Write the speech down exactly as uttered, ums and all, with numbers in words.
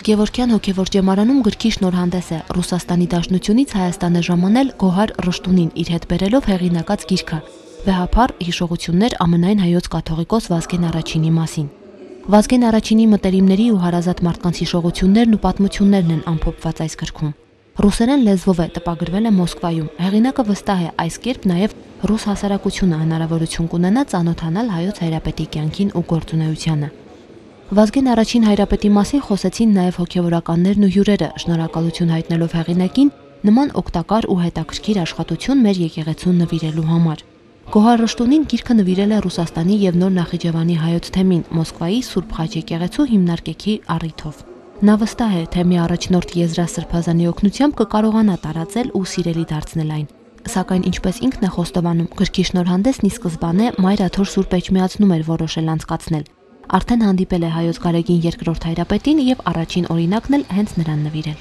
Գևորգյան հոգևոր ճեմարանում գրքի շնորհանդես է Ռուսաստանի Դաշնությունից Հայաստան է ժամանել Գոհար Ռշտունին իր հետ բերելով հեղինակած գիրքը «Վեհափառ հիշողություններ ամենայն հայոց կաթողիկոս Վազգեն Առաջինի մասին»։ Վազգեն Առաջինի մտերիմների ու հարազատ մարդկանց հիշողություններն ու պատմություններն են ամփոփված այս գրքում։ Ռուսերեն լեզվով է, տպագրվել է Մոսկվայում։ Հեղինակը վստահ է, այս կերպ նաև ռուս հասարակությունը հնարավորություն կունենա ծանոթանալ հայոց հայրապետի կյանքին ու գործունեությանը։ Վազգեն Առաջին հայրապետի մասին խոսեցին նաև հոգևորականներն ու հյուրերը, շնորհակալություն հայտնելով հեղինակին նման օգտակար ու հետաքրքիր աշխատություն մեր եկեղեցուն նվիրելու համար։ Գոհար Ռշտունին գիրքը նվիրել է Ռուսաստանի եւ Նոր Նախիջևանի հայոց թեմին Մոսկվայի Սուրբ Խաչ եկեղեցու հիմնարկեքի առիթով։ Նա վստահ է, թե մի առաջնորդ Եզրասրբազանի օգնությամբ կկարողանա տարածել ու սիրելի դարձնել այն։ Սակայն ինչպես ինքն է խոստովանում, գրքի շնորհանդեսն ի սկզբանե Մայր Աթոր Սուրբ Էջմիածնում էր որոշել անցկացնել։ Արդեն հանդիպել է հայոց Գարեգին երկրորդ հայրապետին եւ առաջին օրինակն էլ հենց նրան նվիրել։